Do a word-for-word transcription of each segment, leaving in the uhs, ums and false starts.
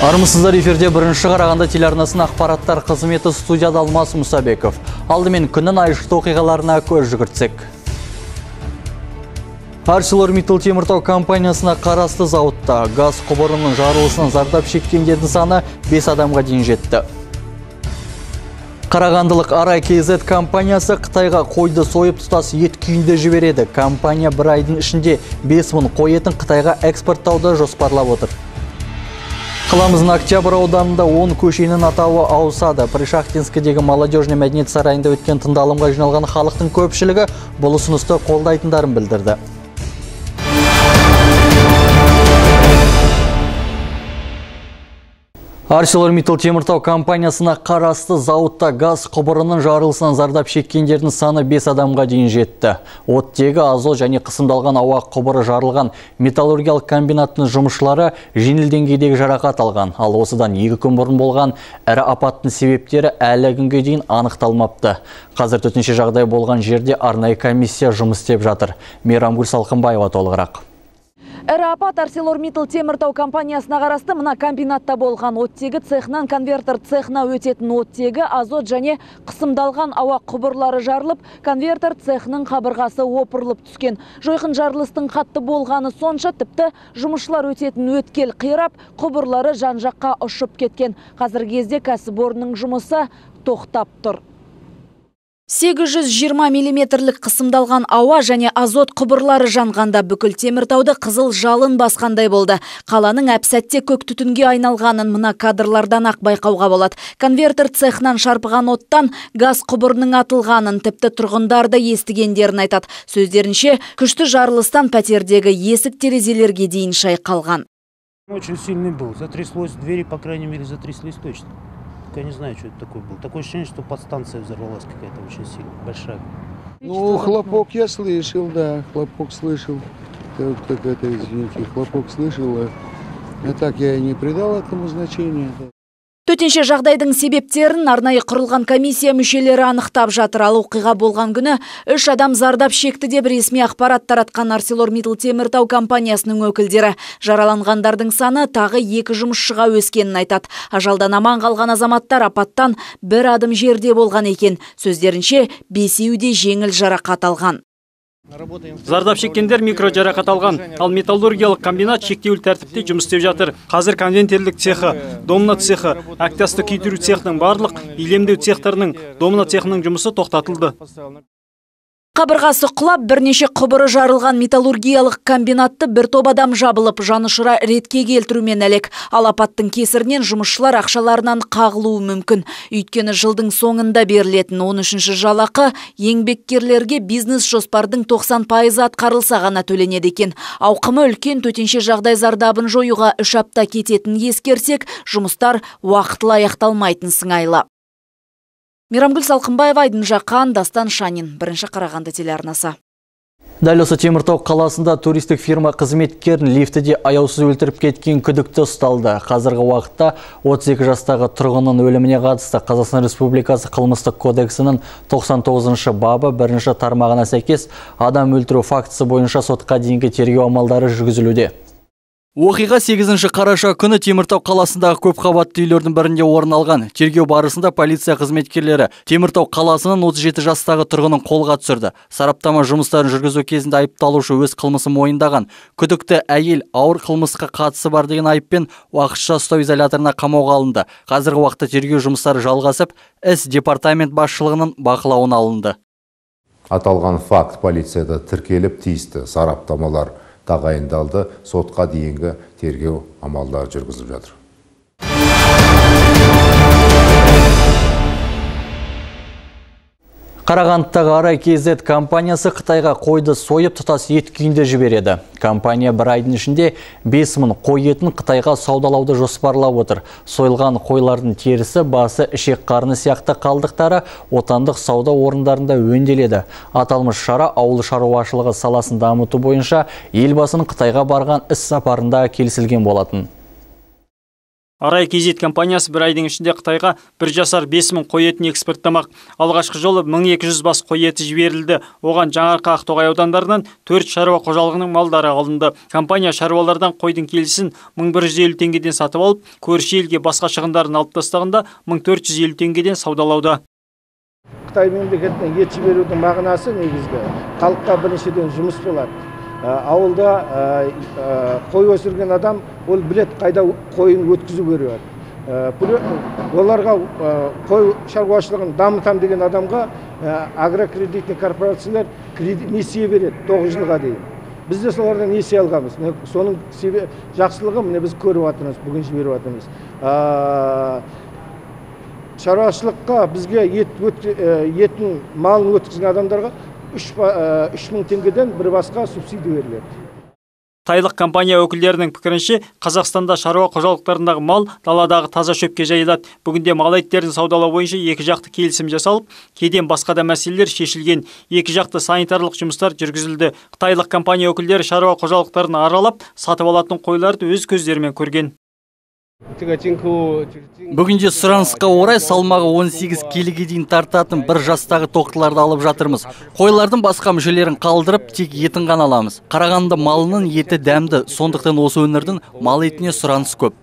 Армысыздар, эфирде бірінші Қарағанды телеарнасының ақпараттар қызметі, студияда Алмас Мұсабеков. Алдымен күннің айшықты оқиғаларына көз жүгіртсек. ArcelorMittal теміртау компаниясына қарасты зауытта газ құбырының жарылысынан зардап шеккендердің саны бес адамға дейін жетті. Қарағандылық Арай КЗ компаниясы Қытайға қойды сойып тұтас ет күйінде жібереді. Компания бір айдың ішінде бес мың қой етін Қытайға экспорттауды жоспарлап отыр. Қаламыздың Октябрь ауданында он көшенің атауы ауысады. Пришахтинскідегі молодежный мәдениет сарайында өткен тыңдалымға жиналған халықтың көпшілігі бұл ұсынысты қолдайтындарын білдірді. ArcelorMittal теміртау компаниясына қарасты зауытта газ құбырының жарылысынан зардап шеккендердің саны бес адамға дейін жетті. Оттегі, азот және қысымдалған ауа құбыры жарылған металлургиялық комбинаттың жұмысшылары жеңіл деңгейдегі жарақат алған. Ал осыдан екі күн бұрын болған ірі апаттың себептері әлі күнге дейін анықталмапты. Қазір төтенше жағдай болған жерде арнайы комиссия жұмыс істеп жатыр. Мейрамгүл Салқынбаева толығырақ. Әрі апат ArcelorMittal теміртау компаниясына қарасты мына комбинатта болған. Оттегі цехнан конвертер цехна өтетін оттегі, азот және қысымдалған ауа құбырлары жарылып, конвертер цехның қабырғасы опырылып түскен. Жойқын жарылыстың қатты болғаны сонша, тіпті жұмысшылар өтетін өткел қирап, құбырлары жан-жаққа ұшып кеткен. Қазіргі кезде кәсіпорынның жұмысы тоқтап тұр. сегіз жүз жиырма миллиметрлік қысымдалған ауа және азот құбырлары жанғанда бүкіл теміртауды қызыл жалын басқандай болды. Қаланың әп-сәтте көк түтінге айналғанын мына кадрлардан ақ байқауға болады. Конвертер цехнан шарпыған оттан газ құбырының атылғанын тіпті тұрғындарды естігендерін айтады. Сөздерінше, күшті жарылыстан пәтердегі есік терезелерге дейін шайқалған. Очень сильный был. Затряслось двери, по крайней мере, затряслись точно. Я не знаю, что это такое было. Такое ощущение, что подстанция взорвалась какая-то очень сильно, большая. Ну, хлопок я слышал, да, хлопок слышал. Так это, извините, хлопок слышал. А так я и не придал этому значения. Төтенше жағдайдың себептерін арнайы құрылған комиссия мүшелері анықтап жатыр. Ал оқиға болған күні үш адам зардап шекті деп ресми ақпарат таратқан ArcelorMittal теміртау компаниясының өкілдері. Жараланғандардың саны тағы екі жұмысшыға өскенін айтады. Ажалдан аман қалған азаматтар апаттан бір адым жерде болған екен. Сөздерінше, бесеуі де жеңіл жарақат алған. Зардап шеккендер микро жарақат алған, ал металлургиялық комбинат шектеулі тәртіпте жұмыс істеп жатыр. Қазір конвертерлік цехы, домна цехы, әктасты күйдіру цехының барлық илемдеу цехтарының, домна цехының жұмысы тоқтатылды. Қабырғасы құлап, бірнеше құбыры жарылған металлургиялық комбинатты бір топ адам жабылып, жанұшыра ретке келтірумен әлек. Ал апаттың кесірінен жұмысшылар ақшаларынан қағылуы мүмкін. Өйткені жылдың соңында берілетін он үшінші жалақы еңбеккерлерге бизнес жоспардың тоқсан пайызы атқарылса ғана төленеді екен. Ауқымы үлкен төтенше жағдай зардабын жоюға үш апта кететін ескерсек, жұмыстар уақытылы аяқталмайтын сыңайлы. Мейрамгүл Салқынбаева, Айдын Жақан, Дастан Шанин, бірінші Қарағанды телеарнасы. Дәл осы теміртау қаласында туристік фирма қызметкерін лифтіде аяусыз өлтіріп кеткен күдікті ұсталды. Қазіргі уақытта отыз екі жастағы тұрғынның өліміне қатысты Қазақстан Республикасы қылмыстық кодексінің тоқсан тоғызыншы бабы бірінші тармағына сәйкес адам өлтіру фактісі бойынша сотқа дейінгі тергеу амалдары жүргізілуде. Оқиға сегізінші қараша күні Теміртау қаласындағы көп қабатты үйлердің бірінде орын алған. Тергеу барысында полиция қызметкерлері Теміртау қаласының отыз жеті жастағы тұрғынын қолға түсірді. Сараптама жұмыстарын жүргізу кезінде айыпталушы өз қылмысын мойындаған. Күдікті әйел ауыр қылмысқа қатысы бар деген айыппен уақытша ұстау изоляторына қамауға алынды. Қазіргі уақытта тергеу жұмыстары жалғасып, іс департамент басшылығының бақылауына алынды. Аталған факт полицияда тіркеліп, тиісті сараптамалар тағайындалды, сотқа дейінгі тергеу амалдары жүргізіліп жатыр. Қарағандыдағы Арай КЗ компаниясы Қытайға қойды сойып тұтас ет күйінде жібереді. Компания бір айдың ішінде бес мың қой етін Қытайға саудалауды жоспарлап отыр. Сойылған қойлардың терісі, басы, ішек қарны сияқты қалдықтары отандық сауда орындарында өңделеді. Аталмыш шара ауыл шаруашылығы саласын дамыту бойынша елбасының Қытайға барған іс сапарында келісілген болатын. Арай Кезет компаниясы бір айдың ішінде Қытайға бір жасар бес мың қой етін экспорттамақ. Алғашқы жолы мың екі жүз бас қой еті жіберілді. Оған Жаңарқа, Ақтоғай аудандарынан төрт шаруа қожалығының малдары алынды. Компания шаруалардан қойдың келісін мың бір жүз елу теңгеден сатып алып, көрші елге басқа шығындарын алып тастағанда мың төрт жүз елу теңгеден саудалауда. Қытай мемлекетіне ет жіберудің мағынасы негізгі халыққа біріншіден жұмыс болады. Ауылда қой өсірген адам ол білет қайда қойын өткізу керек. Оларға қой шаруашылығын дамытам деген адамға агрокредитный корпорациялар несие береді тоғыз жылға дейін. Біз де солардан несие алғанбыз. Соның жақсылығы міне біз көріп жатырмыз, бүгін жіберіп жатырмыз. Шаруашылыққа бізге етін малын өткізген адамдарға үш мың теңгеден бір басқа субсидия беріледі. Қытайлық компания өкілдерінің пікірінше, Қазақстанда шаруа қожалықтарындағы мал даладағы таза шөпке жайылады. Бүгінде мал еттерін саудалау бойынша екі жақты келісім жасалып, кеден басқа да мәселелер шешілген. Екі жақты санитарлық жұмыстар жүргізілді. Қытайлық компания өкілдері шаруа қожалықтарын аралап, сатып алатын қойларды өз көздерімен көрген. Бүгінде сұранысқа орай салмағы он сегіз келіге дейін тартатын бір жастағы тоқтыларды алып жатырмыз. Қойлардың басқа мүшелерін қалдырып, тек етін ғана аламыз. Қарағанды малының еті дәмді, сондықтан осы өңірдің мал етіне сұраныс көп.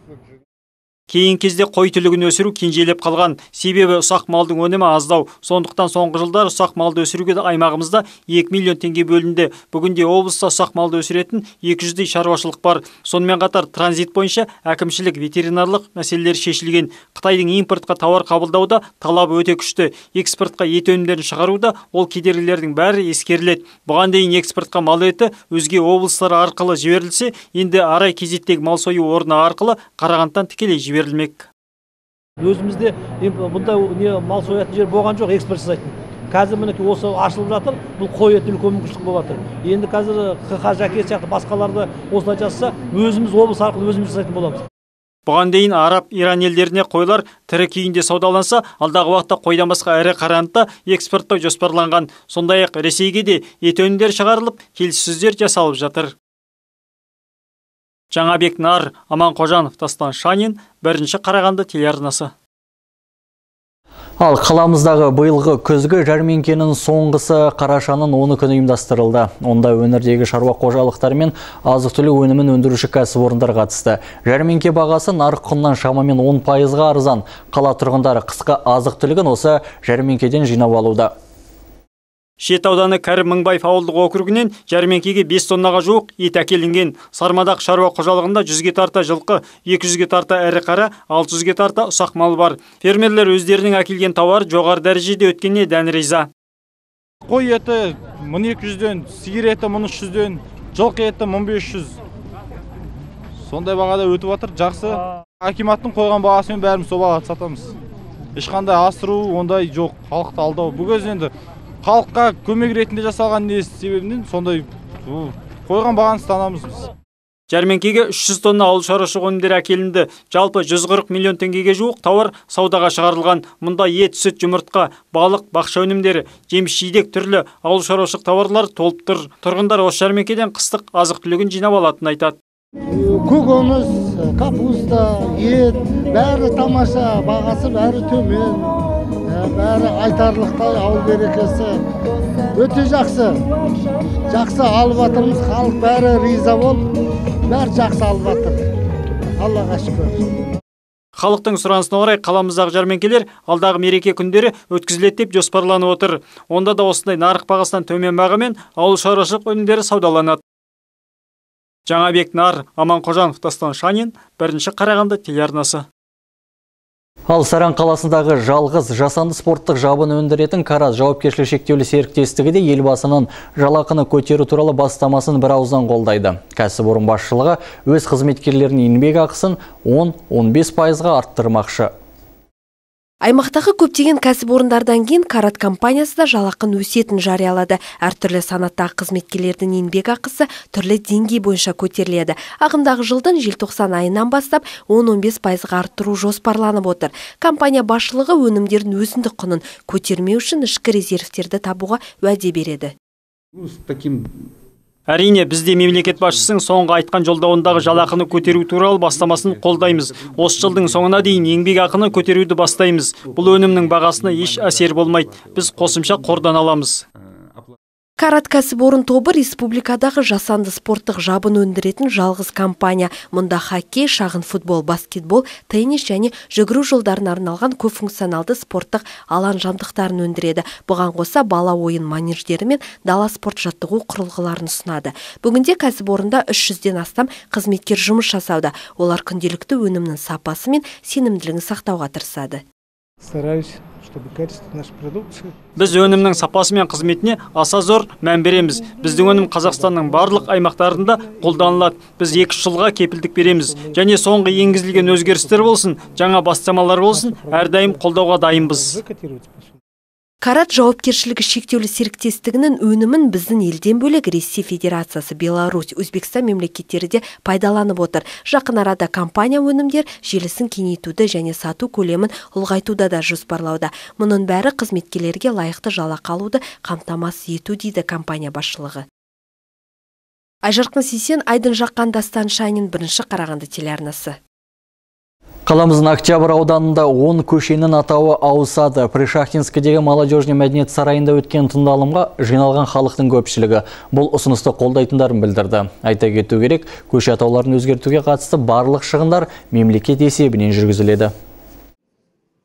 Кейін кезде қой түлігін өсіру кенжелеп қалған. Себебі ұсақ малдың өнімі аздау. Сондықтан соңғы жылдар ұсақ малды өсіруге аймағымызда екі миллион теңге бөлінді. Бүгінде облыста ұсақ малды өсіретін екі жүздей шаруашылық бар. Сонымен қатар транзит бойынша әкімшілік ветеринарлық мәселелер шешілген. Қытайдың импортқа тауар қабылдауда талабы өте күшті. Экспортқа ет өнімдерін шығаруда ол кедергілердің бәрі ескеріледі. Бұған дейін экспортқа мал еті өзге облыстар арқылы жіберілсе, енді Арай Кезеттегі мал сою орны арқылы Қарағандыдан тікелей жіберілді. Өзімізде бұнда мал соятын жер болған жоқ, экспорт жасайтын. Қазір мінекей осы ашылып жатыр, бұл қой еті үлкен мүмкіншілік болып жатыр. Енді қазір қ-қа жәке сияқты басқаларды осылай жасаса, өзіміз облыс арқылы өзіміз жасайтын боламыз. Бұған дейін Араб, Иран елдеріне қойлар тірі күйінде саудаланса, алдағы уақытта қойдан басқа ірі қарағандыда экспорттау жоспарланған. Сондай-ақ Ресейге де ет өнімдері шығарылып, келіссөздер жасалып жатыр. Жаңабек Нар, Аман Қожанов, Дастан Шанин, бірінші Қарағанды телеарнасы. Ал қаламыздағы биылғы күзгі жәрмеңкенің соңғысы қарашаның оны күні ұйымдастырылды. Онда өңірдегі шаруа қожалықтары мен азық-түлік өнімін өндіруші кәсіпорындар қатысты. Жәрмеңке бағасы нарық құнынан шамамен он пайызға арзан. Қала тұрғындары қысқы азық-түлігін осы жәрмеңкеден жинап алуда. Шет ауданы Кәрім Мыңбаев ауылдық округінен жәрмеңкеге бес тоннаға жуық ет әкелінген. Сармадақ шаруа қожалығында жүзге тарта жылқы, екі жүзге тарта ірі қара, алты жүзге тарта ұсақ мал бар. Фермерлер өздерінің әкелген тауар жоғары дәрежеде өткеніне дән риза. Қой еті мың екі жүзден, сиыр еті мың үш жүзден, жылқы еті мың бес жүз. Сондай бағада өтіп жатыр, жақсы. Акиматтың қойған бағасымен бәріміз сол бағада сатамыз. Ешқандай асыру ондай жоқ, халықты алдау. Бұл кезде халыққа көмек ретінде жасалған не себебінен сондай қойған бағаны ұстанамыз біз. Жәрмеңкеге үш жүз тонна ауыл шаруашылық өнімдері әкелінді. Жалпы жүз қырық миллион теңгеге жуық тауар саудаға шығарылған. Мұнда ет, сүт, жұмыртқа, балық, бақша өнімдері, жеміс-жидек түрлі ауыл шаруашылық тауарлар толып тұр. Тұрғындар осы жәрмеңкеден қыстық азық-түлігін жинап алатынын айтады. Көкөніс, капуста, ет, бәрі тамаша, бағасы бәрі төмен. Бәрі айтарлықтай, ауыл берекесі өте жақсы. Жақсы алып жатырмыз, халық бәрі риза болып, бәрі жақсы алып жатыр. Аллаға шүкір. Халықтың сұранысына орай қаламыздағы жәрмеңкелер алдағы мереке күндері өткізіледі деп жоспарланып отыр. Онда да осындай нарық бағасынан төмен бағамен ауыл шаруашылық өнімдері саудаланады. Жаңабек Нар, Аман Қожанов, Дастан Шанин, бірінші Қарағанды телеарнасы. Ал Саран қаласындағы жалғыз жасанды спорттық жабын өндіретін Караз жауапкершілігі шектеулі серіктестігі де елбасының жалақыны көтеру туралы бастамасын бір ауыздан қолдайды. Кәсіпорын басшылығы өз қызметкерлерінің еңбек ақысын он — он бес пайызға арттырмақшы. Аймақтағы көптеген кәсіпорындардан кейін Карат компаниясы да жалақын өсетін жариялады. Әртүрлі санаттағы қызметкерлердің еңбек ақысы түрлі деңгей бойынша көтеріледі. Ағымдағы жылдың желтоқсан айынан бастап он — он бес пайызға арттыру жоспарланып отыр. Компания басшылығы өнімдердің өзіндік құнын көтермеу үшін ішкі резервтерді табуға уәде береді. С таким Әрине, бізде мемлекет басшысының соңғы айтқан жолдауындағы жалақыны көтеру туралы бастамасын қолдаймыз. Осы жылдың соңына дейін еңбек ақыны көтеруді бастаймыз. Бұл өнімнің бағасына еш әсер болмайды. Біз қосымша қордан аламыз. Карат кәсіпорын тобы республикадағы жасанды спорттық жабын өндіретін жалғыз компания. Мұнда хоккей, шағын футбол, баскетбол, теннис және жүгіру жолдарына арналған көпфункционалды спорттық алаң жабдықтарын өндіреді. Бұған қоса бала ойын манеждері мен дала спорт жаттығу құрылғыларын ұсынады. Бүгінде кәсіпорында үш жүзден астам қызметкер жұмыс жасауда. Олар күнделікті өнімнің сапасы мен сенімділігін сақтауға тырысады. Стараюсь, чтобы качество нашей продукции. Біз өнімнің сапасы мен қызметіне аса зор мән береміз. Біздің өнім Қазақстанның барлық аймақтарында қолданылады. Біз екі жылға кепілдік береміз. Және соңғы енгізілген өзгерістер болсын, жаңа бастамалар болсын, әрдайым қолдауға дайынбыз. Карат жауапкершілігі шектеулі серіктестігінің өнімін біздің елден бөлек Ресей Федерациясы, Беларусь, Өзбекстан мемлекеттері де пайдаланып отыр. Жақын арада компания өнімдер желісін кеңейтуді және сату көлемін ұлғайтуда да жоспарлауда. Мұның бәрі қызметкерлерге лайықты жалақы алуды қамтамасыз ету дейді компания басшылығы. Айжарқын Сейсен, Айдын Жаққан, Дастан Шанин, бірінші Қарағанды телеарнасы. Қаламыздың Октябрь ауданында он көшенің атауы ауысады. Пришахтинскідегі молодежный мәдениет сарайында өткен тыңдалымға жиналған халықтың көпшілігі бұл ұсынысты қолдайтындарын білдірді. Айта кету керек, көше атауларын өзгертуге қатысты барлық шығындар мемлекет есебінен жүргізіледі.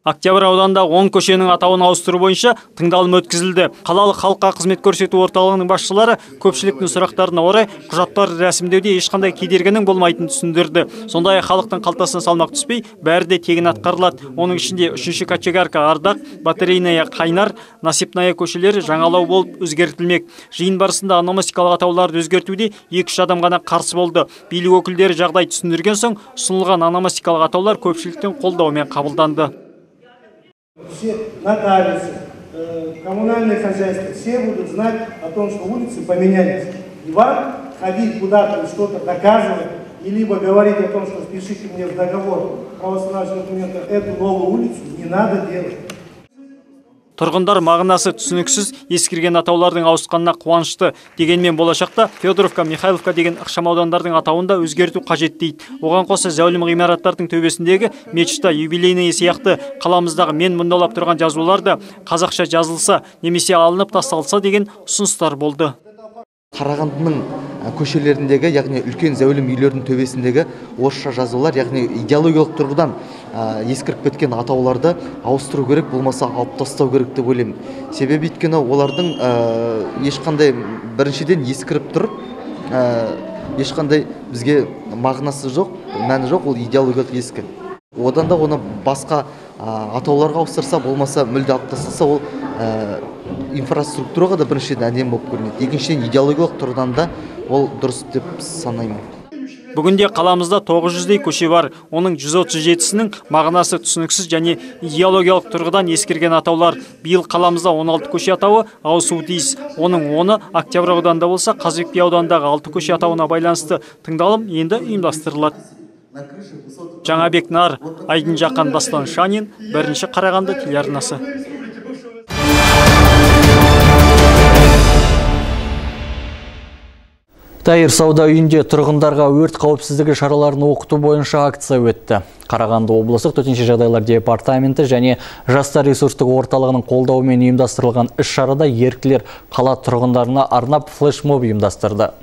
Октябрь ауданында он көшенің атауын ауыстыру бойынша тыңдалым өткізілді. Қалалық халыққа қызмет көрсету орталығының басшылары көпшіліктің сұрақтарына орай құжаттар рәсімдеуде ешқандай кедергінің болмайтынын түсіндірді. Сондай халықтың қалтасына салмақ түспей, бәрі де тегін атқарылады. Оның ішінде үшінші Кочегарка, Ардақ, Батарейная, Қайнар, Насипная көшелері жаңалау болып өзгертілмек. Жиын барысында ономастикалық атауларды өзгертуде екі үш адам ғана қарсы болды. Билік өкілдері жағдай түсіндірген соң, ұсынылған ономастикалық атаулар көпшіліктің қолдауымен қабылданды. Все нотариусы, коммунальные хозяйства, все будут знать о том, что улицы поменялись. И вам ходить куда-то и что-то доказывать, и либо говорить о том, что впишите мне в договор правоустанавливающего документа эту новую улицу, не надо делать. Тұрғындар мағынасы түсініксіз ескірген атаулардың ауысқанына қуанышты. Дегенмен болашақта Федоровка, Михайловка деген ықшамаудандардың атауында өзгерту қажет дейді. Оған қоса зәулім ғимараттардың төбесіндегі мечта, юбилейный сияқты қаламыздағы мен мұндалап тұрған жазулар да қазақша жазылса, немесе алынып тасталса деген ұсыныстар болды. Қарағандының көшелеріндегі, яғни үлкен зәулім үйлердің төбесіндегі орысша жазулар, яғни идеологиялық тұрғыдан ескіріп кеткен атауларды ауыстыру керек, болмаса алып тастау керек деп ойлаймын. Себебі өйткені олардың ешқандай біріншіден ескіріп тұр, ешқандай бізге мағынасы жоқ, мәні жоқ, ол идеологиялық ескі. Одан да оны басқа атауларға ауыстырса, болмаса мүлде алып тастаса, ол инфраструктураға да біріншіден әдемі болып көрінеді. Екіншіден идеологиялық тұрғыдан да ол дұрыс деп санаймын. Бүгінде қаламызда тоғыз жүздей көше бар. Оның жүз отыз жетісінің мағынасы түсініксіз және идеологиялық тұрғыдан ескерген атаулар. Биыл қаламызда он алты көше атауы ауысуы тиіс. Оның оны Октябрь ауданында болса, Қазыбек би ауданындағы алты көше атауына байланысты тыңдалым енді ұйымдастырылады. Жаңабек Нар, Айдын Жаққан, Дастан Шанин, бірінші Қарағанды телеарнасы. Тайыр сауда үйінде тұрғындарға өрт қауіпсіздігі шараларын оқыту бойынша акция өтті. Қарағанды облыстық төтенше жағдайлар департаменті және жастар ресурстық орталығының қолдауымен ұйымдастырылған іс-шарада еріктілер қала тұрғындарына арнап флешмоб ұйымдастырды.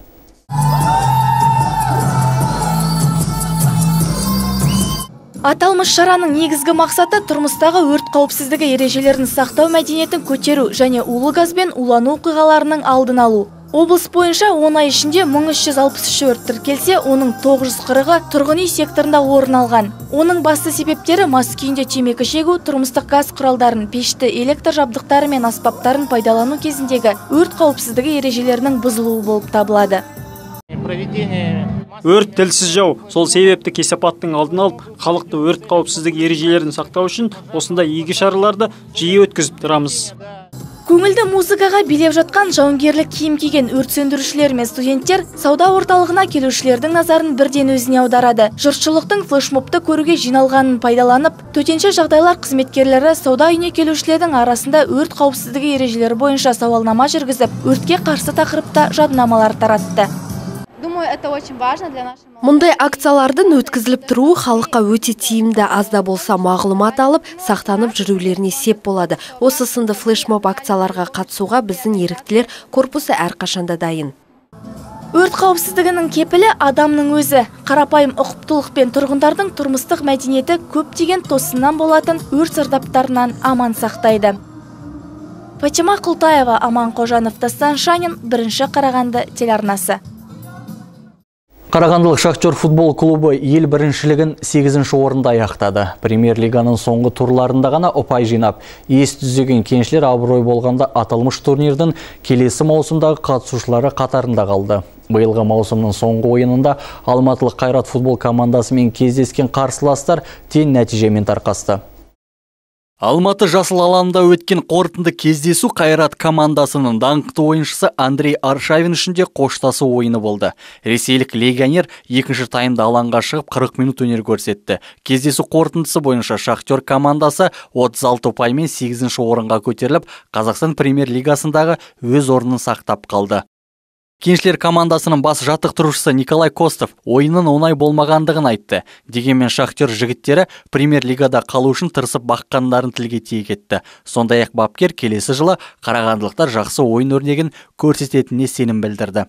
Аталмыш шараның негізгі мақсаты тұрмыстағы өрт қауіпсіздігі ережелерін сақтау мәдениетін көтеру және улы газбен улану оқиғаларының алдын алу. Облыс бойынша он ай ішінде мың үш жүз алпыс үш өрт тіркелсе, оның тоғыз жүз қырығы тұрғын үй секторында орын алған. Оның басты себептері мас күйінде темекі шегу, тұрмыстық газ құралдарын, пешті, электр жабдықтары мен аспаптарын пайдалану кезіндегі өрт қауіпсіздігі ережелерінің бұзылуы болып табылады. Өрт тілсіз жау. Сол себепті кесапаттың алдын алып, халықты өрт қауіпсіздігі ережелерін сақтау үшін осындай игі шараларды жиі өткізіп тұрамыз. Көңілді музыкаға билеп жатқан жауынгерлік киім киген өрт сөндірушілер мен студенттер сауда орталығына келушілердің назарын бірден өзіне аударады. Жұртшылықтың флешмобты көруге жиналғанын пайдаланып, төтенше жағдайлар қызметкерлері сауда үйіне келушілердің арасында өрт қауіпсіздігі ережелері бойынша сауалнама жүргізіп, өртке қарсы тақырыпта жадынамалар таратты. Мұндай акциялардың өткізіліп тұруы халыққа өте тиімді, азда болса мағлұмат алып, сақтанып жүрулеріне сеп болады. Осы сынды флешмоб акцияларға қатысуға біздің еріктілер корпусы әрқашанда дайын. Өрт қауіпсіздігінің кепілі адамның өзі. Қарапайым ұқыптылықпен тұрғындардың тұрмыстық мәдениеті көптеген тосыннан болатын өрт зардаптарынан аман сақтайды. Фатима Құлтаева, Аман Қожанов, Дастан Шанин, бірінші Қарағанды телеарнасы. Қарағандылық Шахтер футбол клубы ел біріншілігін сегізінші орында аяқтады. Премьер-лиганың соңғы турларында ғана ұпай жинап, ес түзеген кеншілер абырой болғанда аталмыш турнирдің келесі маусымдағы қатысушылары қатарында қалды. Биылғы маусымның соңғы ойынында алматылық Қайрат футбол командасымен кездескен қарсыластар тең нәтижемен тарқасты. Алматы жасыл алаңында өткен қорытынды кездесу Қайрат командасының даңқты ойыншысы Андрей Аршавин үшінде қоштасу ойыны болды. Ресейлік легионер екінші таймда алаңға шығып қырық минут өнер көрсетті. Кездесу қорытындысы бойынша Шахтер командасы отыз алты ұпаймен сегізінші орынға көтеріліп, Қазақстан премьер-лигасындағы өз орнын сақтап қалды. Кеншілер командасының бас жаттықтырушысы Николай Костов ойынның оңай болмағандығын айтты. Дегенмен Шахтер жігіттері премьер-лигада қалу үшін тырысып баққандарын тілге тиек етті. Сондай-ақ бапкер келесі жылы қарағандылықтар жақсы ойын өрнегін көрсететініне сенім білдірді.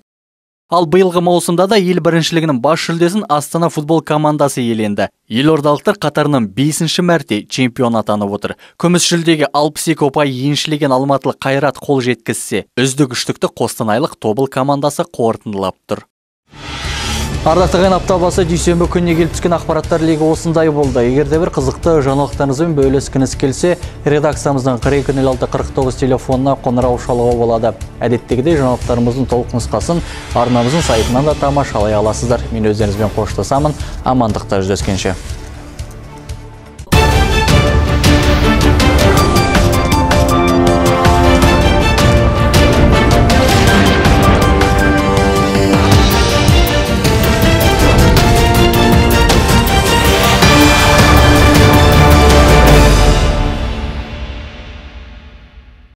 Ал биылғы маусымда да ел біріншілігінің бас жүлдесін Астана футбол командасы иеленді. Елордалықтар қатарынан бесінші мәрте чемпион атанып отыр. Күміс жүлдеге алпыс екі ұпай еншілеген алматылық Қайрат қол жеткізсе, үздік үштікті қостанайлық Тобыл командасы қорытындылап тұр. Ардақтаған апта басы дүйсенбі күніне келіп түскен ақпараттар легі осындай болды. Егерде бір қызықты жаңалықтарыңызбен бөліскіңіз келсе, редакциямыздың қырық екі нөл алты қырық тоғыз телефонына қоңырау шалуға болады. Әдеттегідей жаңалықтарымыздың толық нұсқасын арнамыздың сайтынан да тамашалай аласыздар. Мен өздеріңізбен қоштасамын. Амандықта жүздескенше.